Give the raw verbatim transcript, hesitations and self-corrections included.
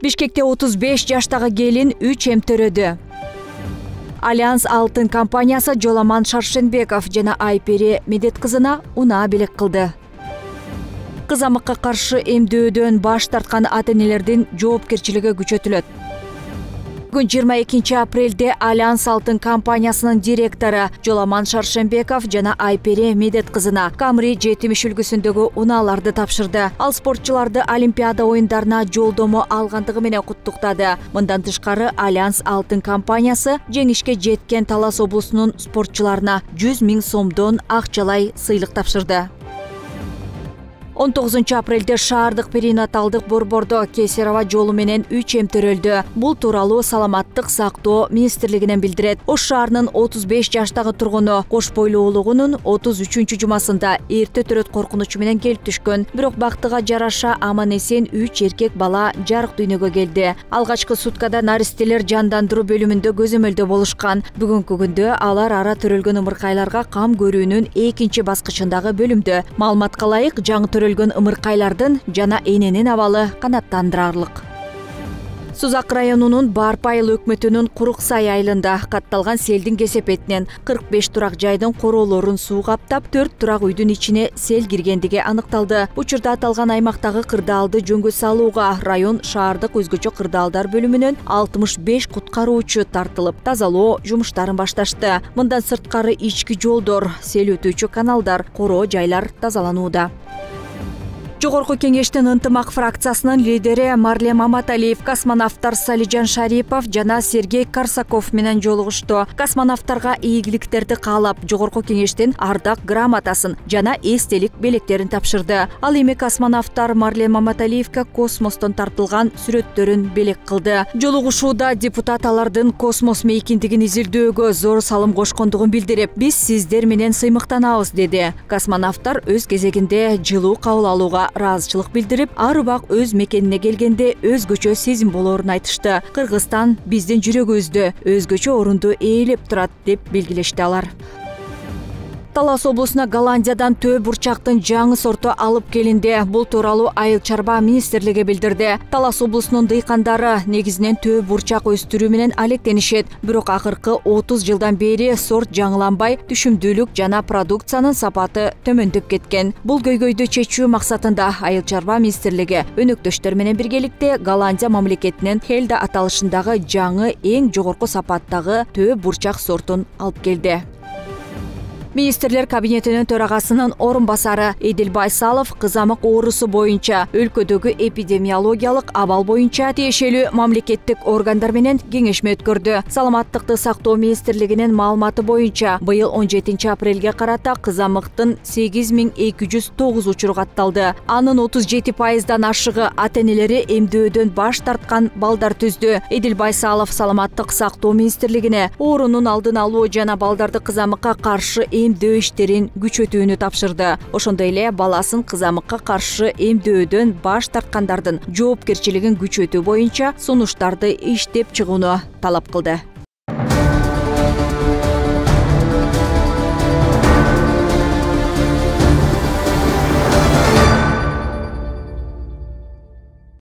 Бишкекте отуз беш жаштагы келин үч эмтөрөдү. Альянс алтын компаниясы Жоламан Шаршенбеков жана Айпери Медет кызына унаа белек кылды. Кызамыкка каршы эмдөөдөн баш тарткан ата-энелердин жоопкерчилиги күчөтүлөт. Бүгүн жыйырма экинчи апрелде Альянс алтын компаниясынын директору Жоламан Шаршенбеков жана Айпери Медет кызына Камри жетимиш үлгүсүндөгү унааларды тапшырды. Ал спортчуларды Олимпиада оюндарына жолдомо алгандыгы менен куттуктады. Мындан тышкары Альянс алтын компаниясы жеңишке жеткен Талас облусунун спортчуларына жүз миң сомдон акчалай сыйлык тапшырды. он тогузунчу апрелде шаардык перинаталдык борбордо кесарево жолу менен үч эмтөрөлдү. Бул тууралуу Саламаттык сактоо министрлигинен билдирет. Ош шаарынын отуз беш жаштагы тургуну кош бойлуу улугунун отуз үчүнчү жумасында эрте төрөт коркунучу менен келип түшкөн. Бирок бактыга жараша аман эсен үч эркек бала жарык дүйнөгө келди. Алгачкы суткада наристелер жандандыруу бөлүмүндө көзөмөлдө болушкан. Бүгүнкү күндө алар ара төрөлгөн ымыркайларга кам көрүүнүн экинчи баскычындагы бөлүмдө. Маалыматка ылайык, жаңы төрөлгөн ымыркайлардын жана эненин абалы канааттандырарлык. Сузак районунун Барпы айыл өкмөтүнүн Курук Сай айылында катталган селдин кесепетинен кырк беш турак жайдын короолорун суу каптап, төрт турак үйдүн ичине сел киргендиги аныкталды. Учурда аталган аймактагы кырдаалды жөнгө салууга район шаардык өзгөчө кырдаалдар бөлүмүнөн алтымыш беш куткаруучу тартылып, тазалоо жумуштарын башташты. Мындан сырткары ички жолдор, сел өтүүчү каналдар, короо жайлар тазаланууда. Жогорку кеңештин ынтымак фракциясынын лидери Марлем Маматалиев космонавттар Салижан Шарипов жана Сергей Корсаков менен жолугушту. Космонавттарга ийгиликтерди каалап, Жогорку кеңештин ардак грамотасын жана эстелик белектерин тапшырды. Ал эми космонавттар Марлем Маматалиевке космостон тартылган сүрөттөрүн белек кылды. Жолугушууда депутат алардын космос мейкиндигин изилдөөгө зор салым кошкондугун билдирип, биз сиздер менен сыймыктанабыз деди. Космонавттар өз кезегинде жылуу кабыл алууга ыраазычылык билдирип, ар убак өз мекенине келгенде өзгөчө сезим болоорун айтышты. Кыргызстан биздин жүрөгүбүздө өзгөчө орунду ээлеп турат деп белгилешти алар. Талас облусуна Голландиядан төө бурчактын жаңы сорту алып келинди. Бул тууралуу Айыл чарба министрлиги билдирди. Талас облусунун дыйкандары негизинен төө бурчак өстүрүү менен алектенишет. Бирок акыркы отуз жылдан бери сорт жаңыланбай, түшүмдүүлүк жана продукциянын сапаты төмөндөп кеткен. Бул көйгөйдү чечүү максатында Айыл чарба министрлиги өнөктөштөр менен биргеликте Голландия мамлекетинен Хельда аталышындагы жаңы эң жогорку сапаттагы төө бурчак сортун алып келди. Министрлер кабинетинин төрагасынын орун басары Эдил Байсалов кызамык оорусу боюнча өлкөдөгү эпидемиологиялык абал боюнча тиешелүү мамлекеттик органдар менен кеңешме өткөрдү. Саламаттыкты сактоо министрлигинин маалыматы боюнча быйыл он жетинчи апрелге карата кызамыктын сегиз миң эки жүз тогуз учуру катталды. Анын отуз жети пайыздан ашыгы ата-энелери эмдөөдөн баш тарткан балдар түздү. Эдил Байсалов Саламаттык сактоо министрлигине оорунун алдын алуу жана балдарды кызамыкка каршы эмдөө иштерин күчөтүүнү тапшырды. Ошондой эле баласын кызамыкка каршы эмдөөдөн баш тарткандардын жоопкерчилигин күчөтүү боюнча сунуштарды иштеп чыгууну талап кылды.